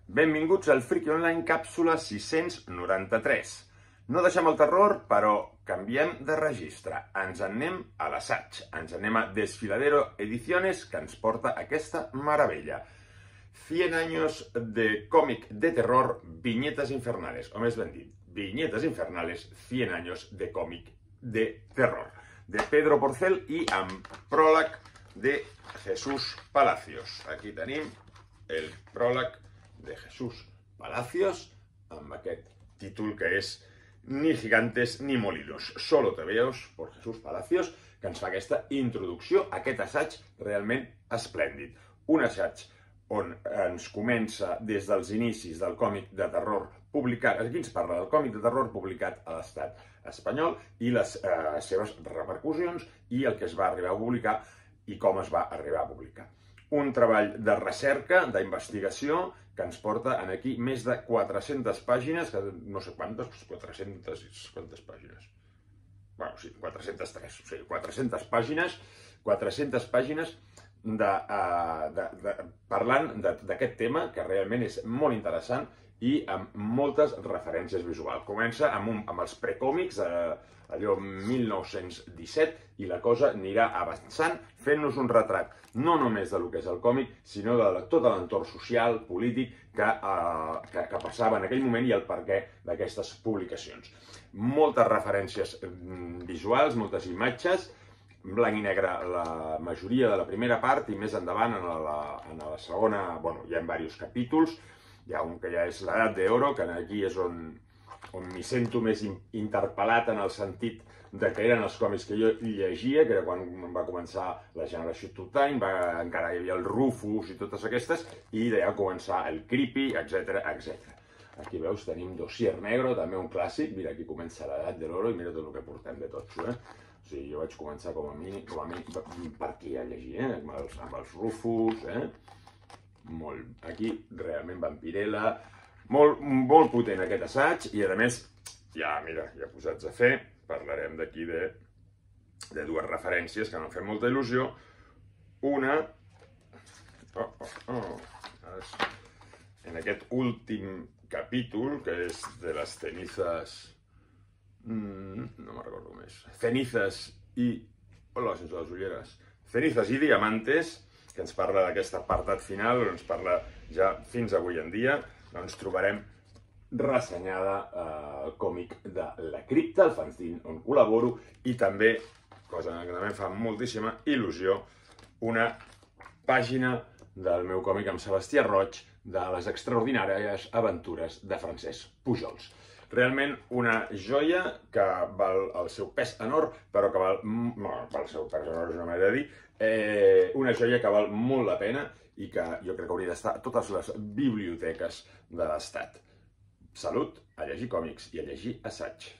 Benvinguts al Friki Online càpsula 693. No deixem el terror, però canviem de registre. Ens en anem a l'assaig. Ens anem a Desfiladero Ediciones, que ens porta aquesta meravella. 100 años de còmic de terror, viñetas infernales. O més ben dit, viñetas infernales, 100 años de còmic de terror. De Pedro Porcel i amb pròleg de Jesús Palacios. Aquí tenim el pròleg de Jesús Palacios amb aquest títol que és Ni gigantes ni molinos, solo tebeos por Jesús Palacios, que ens fa aquesta introducció a aquest assaig realment esplèndid. Un assaig on ens comença des dels inicis del còmic de terror publicat, aquí ens parla del còmic de terror publicat a l'estat espanyol i les seves repercussions i el que es va arribar a publicar i com es va arribar a publicar. Un treball de recerca, d'investigació, que ens porta aquí més de 400 pàgines, que no sé quantes, 400 i quantes pàgines? Bueno, sí, 403, o sigui, 400 pàgines parlant d'aquest tema, que realment és molt interessant i amb moltes referències visuals. Comença amb els precòmics, allò 1917, i la cosa anirà avançant, fent-nos un retrat no només del que és el còmic, sinó de tot l'entorn social, polític, que passava en aquell moment i el perquè d'aquestes publicacions. Moltes referències visuals, moltes imatges, blanc i negre la majoria de la primera part i més endavant en la segona, bueno, hi ha diversos capítols. Hi ha un que ja és l'edat d'oro, que aquí és on m'hi sento més interpel·lat en el sentit de que eren els còmics que jo llegia, que era quan va començar la generació Two Time, encara hi havia el Rufus i totes aquestes, i d'allà començar el Creepy, etc. Aquí veus, tenim Dossier Negro, també un clàssic. Mira, aquí comença l'edat de l'oro i mira tot el que portem de tots. O sigui, jo vaig començar com a mínim per aquí a llegir, amb els Rufus, aquí realment Vampirella, molt potent aquest assaig, i a més, ja posats a fer, parlarem d'aquí de dues referències que m'han fet molta il·lusió. Una, en aquest últim capítol, que és de les cenizas, no me'n recordo més, cenizas i, hola, sense les ulleres, cenizas i diamantes, que ens parla d'aquest apartat final, on ens parla ja fins avui en dia, doncs trobarem ressenyada el còmic de La Cripta, el fanzine on col·laboro, i també, cosa que també em fa moltíssima il·lusió, una pàgina del meu còmic amb Sebastià Roig de les extraordinàries aventures de Francesc Pujols. Realment una joia que val el seu pes en or, però que val, el seu pes en or és una manera de dir, una joia que val molt la pena i que jo crec que hauria d'estar a totes les biblioteques de l'Estat. Salut, a llegir còmics i a llegir assaig.